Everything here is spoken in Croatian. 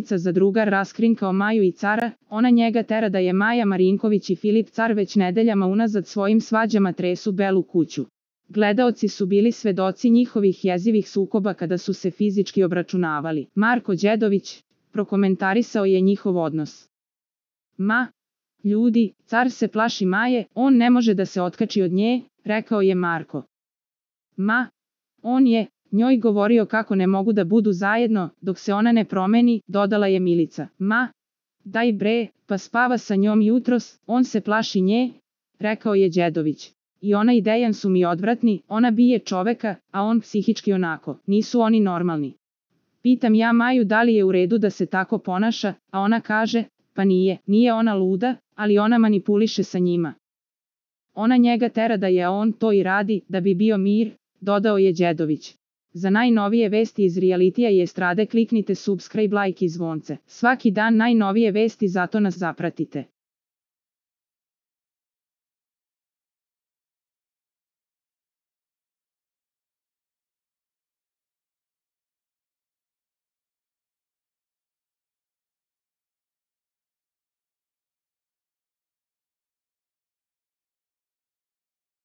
Danica za drugar raskrinkao Maju i Cara, ona njega tera da je Maja Marinković i Filip Car već nedeljama unazad svojim svađama tresu Belu kuću. Gledaoci su bili svedoci njihovih jezivih sukoba kada su se fizički obračunavali. Marko Đedović prokomentarisao je njihov odnos. Ljudi, Car se plaši Maje, on ne može da se otkači od nje, rekao je Marko. On je njoj govorio kako ne mogu da budu zajedno, dok se ona ne promeni, dodala je Milica. Daj bre, pa spava sa njom jutros, on se plaši nje, rekao je Đedović. I ona i Dejan su mi odvratni, ona bije čoveka, a on psihički onako, nisu oni normalni. Pitam ja Maju da li je u redu da se tako ponaša, a ona kaže, pa nije ona luda, ali ona manipuliše sa njima. Ona njega tera da je on to i radi, da bi bio mir, dodao je Đedović. Za najnovije vesti iz realitija i estrade kliknite subscribe, like i zvonce. Svaki dan najnovije vesti, zato nas zapratite.